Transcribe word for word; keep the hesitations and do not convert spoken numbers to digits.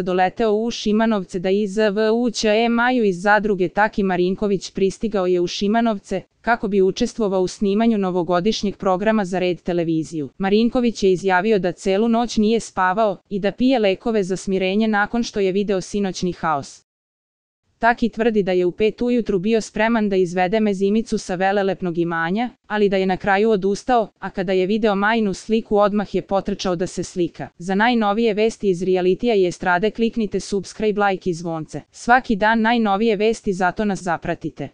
doleteo u Šimanovce da iz V U Ć E Maju iz zadruge Taki Marinković pristigao je u Šimanovce, kako bi učestvovao u snimanju novogodišnjeg programa za Red televiziju. Marinković je izjavio da celu noć nije spavao i da pije lekove za smirenje nakon što je video sinoćni haos. Taki tvrdi da je u pet ujutru bio spreman da izvede mezimicu sa velelepnog imanja, ali da je na kraju odustao, a kada je video Majinu sliku odmah je potrčao da se slika. Za najnovije vesti iz realitija i estrade kliknite subscribe, like i zvonce. Svaki dan najnovije vesti, zato nas zapratite.